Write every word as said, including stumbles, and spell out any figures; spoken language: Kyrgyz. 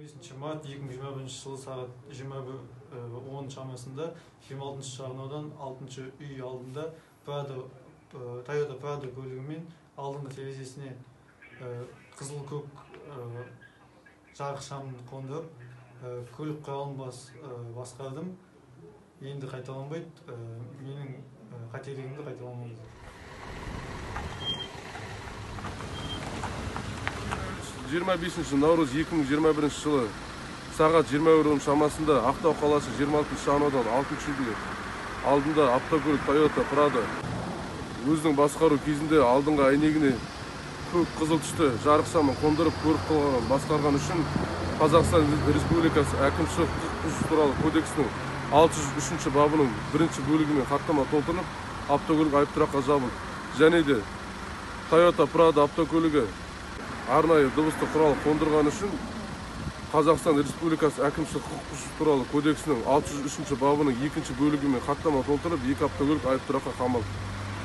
бешинчи март эки миң жыйырма биринчи жылы саат жыйырма бир он чамасында жыйырма алтынчы шагыноодон алтынчы үй алдында Prado Toyota Prado көлүгү алдыңғы терезесіне кызыл көк жарык шамын кондуруп, көлүк куралын баскардым. Энди кайталанбайт, менин кателигимди кайталамайт. жыйырма бешинчи Наурuz эки миң жыйырма биринчи жылы саат жыйырма бир шамасында Актау калаасы жыйырма алтынчы шагыноодон алтынчы үй алдында автокөлүк Toyota Prado өзүнүн баскаруу кезинде алдыңкы айнегине көк кызыл түстө жарык шамын кондуруп, көрүк кылган баскарган үчүн Казакстан Республикасы Әкимшилик укук бузуш тууралуу кодексинин алты жүз үчүнчү бабынын биринчи бөлүгү менен каттама толтурулуп, автокөлүк айыптуракка жабылды. Және де Toyota Prado автокөлүгү арнайы дыбыстык курал кондурган үчүн Казакстан Республикасы Әкимшилик укук бузуш тууралуу кодексинин алты жүз үчүнчү бабынын экинчи бөлүгү менен каттама толтуруп, эки автокөлүк айыптуракка камалды.